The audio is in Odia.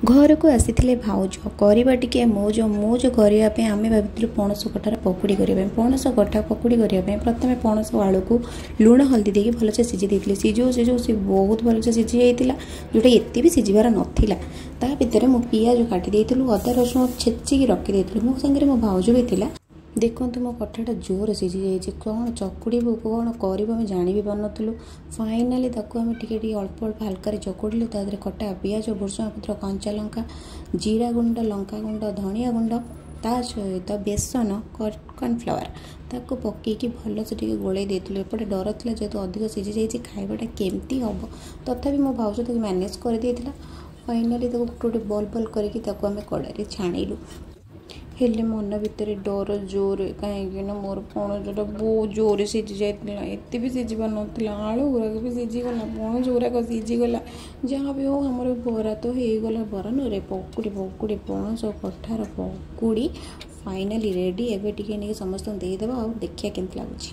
ଘରକୁ ଆସିଥିଲେ ଭାଉଜ, କରିବା ଟିକେ ମଉଜ। ମଉଜ କରିବା ପାଇଁ ଆମେ ଭାବିଥିଲୁ ପଣସ କଠାର ପକୁଡ଼ି କରିବା ପାଇଁ। ପଣସ କଠା ପକୁଡ଼ି କରିବା ପାଇଁ ପ୍ରଥମେ ପଣସ ଆଳୁକୁ ଲୁଣ ହଳଦୀ ଦେଇକି ଭଲସେ ସିଝେଇ ଦେଇଥିଲି। ସିଝଉ ସିଝଉ ସେ ବହୁତ ଭଲସେ ସିଝି ଯାଇଥିଲା, ଯେଉଁଟା ଏତେ ବି ସିଝିବାର ନଥିଲା। ତା ଭିତରେ ମୁଁ ପିଆଜ କାଟି ଦେଇଥିଲୁ, ଅଦା ରସୁଣ ଛେଚିକି ରଖିଦେଇଥିଲୁ। ମୋ ସାଙ୍ଗରେ ମୋ ଭାଉଜ ବି ଥିଲା। ଦେଖନ୍ତୁ, ମୋ କଠାଟା ଜୋରେ ସିଝି ଯାଇଛି। କ'ଣ ଚକୁଡ଼ିବୁ, କ'ଣ କରିବୁ, ଆମେ ଜାଣି ବି ପାରୁନଥିଲୁ। ଫାଇନାଲି ତାକୁ ଆମେ ଟିକେ ଟିକେ ଅଳ୍ପ ଅଳ୍ପ ହାଲକାରେ ଚକୁଡ଼ିଲୁ। ତା ଦେହରେ କଟା ପିଆଜ, ଭୃଷଙ୍ଗ ପତ୍ର, କଞ୍ଚା ଲଙ୍କା, ଜିରା ଗୁଣ୍ଡ, ଲଙ୍କା ଗୁଣ୍ଡ, ଧନିଆ ଗୁଣ୍ଡ, ତା ସହିତ ବେସନ, କର୍ଣ୍ଣଫ୍ଲାୱାର, ତାକୁ ପକେଇକି ଭଲସେ ଟିକେ ଗୋଳେଇ ଦେଇଥିଲୁ। ଏପଟେ ଡର ଥିଲା, ଯେହେତୁ ଅଧିକ ସିଝି ଯାଇଛି, ଖାଇବାଟା କେମିତି ହେବ। ତଥାପି ମୋ ଭାଉଜ ତାକୁ ମ୍ୟାନେଜ୍ କରିଦେଇଥିଲା। ଫାଇନାଲି ତାକୁ ଗୋଟେ ଗୋଟେ ବଲ୍ ବଲ୍ କରିକି ତାକୁ ଆମେ କଡ଼ାରେ ଛାଣିଲୁ। ହେଲେ ମନ ଭିତରେ ଡର ଜୋରେ, କାହିଁକି ନା ମୋର ପଣସଟା ବହୁତ ଜୋରେ ସିଝି ଯାଇଥିଲା, ଏତେ ବି ସିଝିବାର ନଥିଲା। ଆଳୁ ଗୁଡ଼ାକ ବି ସିଝିଗଲା, ପଣସ ଗୁଡ଼ାକ ସିଝିଗଲା। ଯାହା ବି ହଉ, ଆମର ବରା ତ ହେଇଗଲା। ବରା ନୁହେଁ, ପକୁଡ଼ି। ପକୁଡ଼ି, ପଣସ କଠାର ପକୁଡ଼ି ଫାଇନାଲି ରେଡ଼ି। ଏବେ ଟିକେ ନେଇକି ସମସ୍ତଙ୍କୁ ଦେଇଦେବା ଆଉ ଦେଖିବା କେମିତି ଲାଗୁଛି।